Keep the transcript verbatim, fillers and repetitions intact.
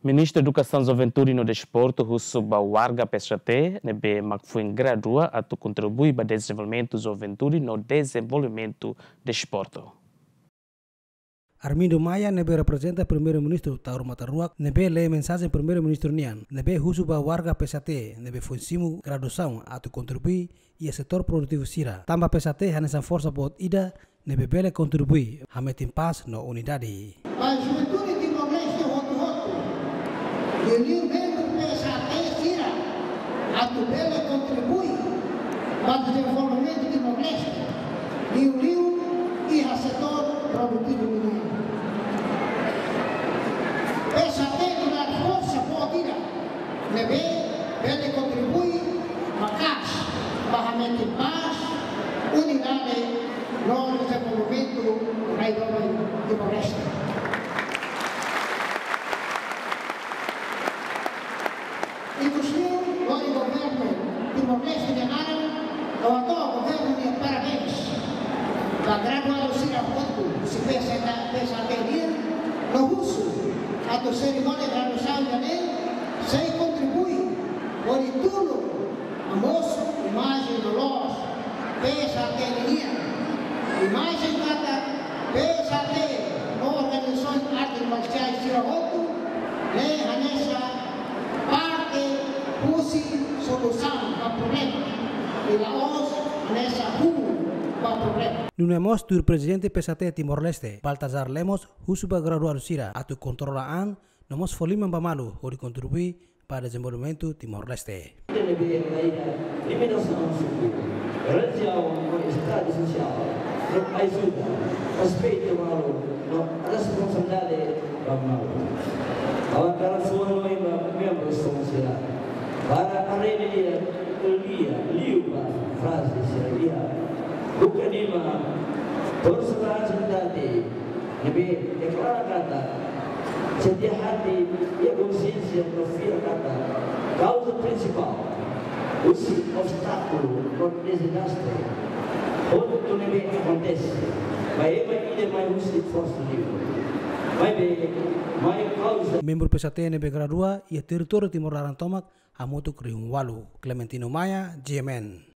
Ministru Edukasaun, Juventude no Desportu husu ba warga P S H T ne'ebé mak foin gradua atu kontribui ba dezenvolvimentu juventude no dezenvolvimentu desportu. Armindo Maia ne'ebé reprezenta Primeiru-Ministru Taur Matan Ruak ne'ebé lee mensajen Primeiru-Ministru nian ne'ebé husu ba warga P S H T ne'ebé foin simu graduasaun atu kontribui iha setór produtivu sira. Tanba P S H T hanesan forsa boot ida ne'ebé bele kontribui hametin pás no unidade. Ba juventude Timor-Leste hotu-hotu, liuliu membru P S H T sira atu bele kontribui ba dezenvolvimentu Timor-Leste, liuliu iha setór produtivu nian. P S H T nu'udar forsa boot ida ne'ebé bele kontribui maka'as ba hametin pás, unidade no dezenvolvimentu rai doben Timor-Leste. Ikusliu, lori governu Timor-Leste nia naran, ha'u hato'o governu nia parabéns ba graduadu sira hotu husi P S H T, P S H T nian, no husu atu serimónia graduasaun ida-ne'e sei kontribui hodi tulun hamosu imajen loloos P S H T nian. Imajen katak P S H T no organizasaun arte marsiais sira hotu ne'e hanesan parte husi solusaun ba problema, i la'ós hanesan huun ba problema. Nune'e mós tuir Prezidente P S H T Timor-Leste, Baltazar Lemos, husu ba graduadu sira atu kontrola an no mós fó liman ba malu hodi kontribui ba dezenvolvimentu Timor-Leste. Ita ne'ebé iha limitasaun suku, relijiaun no estadu sosiál, no ajuda, respeitu malu, no responsabilidade ba malu. Ha'u hakarak fó hanoin ba membru sira para haree lia, lia liu ba fraze sira iha buka lima, porsentajidade ne'ebé deklara katak sente hati iha konsiénsia no fiar katak kauza prinsipál husi obstákulu no dezastre hotu ne'ebé akontese ba ema ida mai husi forsa livre. Maibé, mai kauza. Membru P S H T ne'ebé gradua iha territóriu Timor laran tomak hamutuk rihun ualu. Clementino Maia, G M N.